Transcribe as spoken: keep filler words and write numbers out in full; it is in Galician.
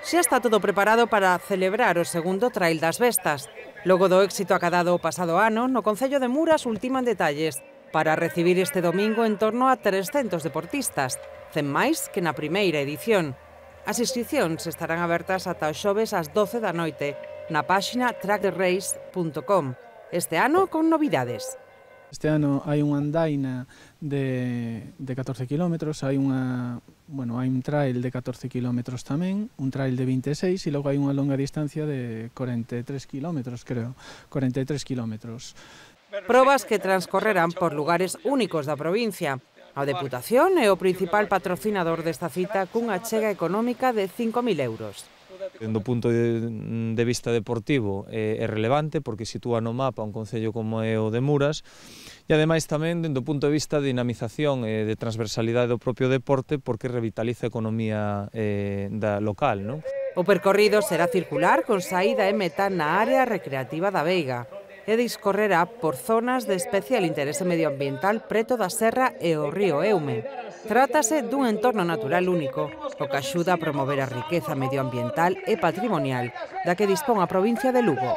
Xa está todo preparado para celebrar o segundo Trail das Vestas. Logo do éxito acadado o pasado ano, no concello de Muras ultiman detalles para recibir este domingo en torno a trescentos deportistas, cen máis que na primeira edición. As inscricións estarán abertas ata o xoves ás doce da noite na páxina track the race punto com. Este ano con novidades. Este ano hai unha andaina de, de catorce kilómetros, hai unha, bueno, hai un trail de catorce kilómetros tamén, un trail de vinte e seis e logo hai unha longa distancia de corenta e tres kilómetros, creo, corenta e tres kilómetros. Probas que transcorrerán por lugares únicos da provincia. A Deputación é o principal patrocinador desta cita cunha achega económica de cinco mil euros. Do punto de, de vista deportivo é, é relevante porque sitúa no mapa un concello como é o de Muras e ademais tamén do punto de vista de dinamización e de transversalidade do propio deporte porque revitaliza a economía eh, da local, non? O percorrido será circular con saída e meta na área recreativa da Veiga e discorrerá por zonas de especial interese medioambiental preto da serra e o río Eume. Trátase dun entorno natural único, o que axuda a promover a riqueza medioambiental e patrimonial da que dispón a provincia de Lugo.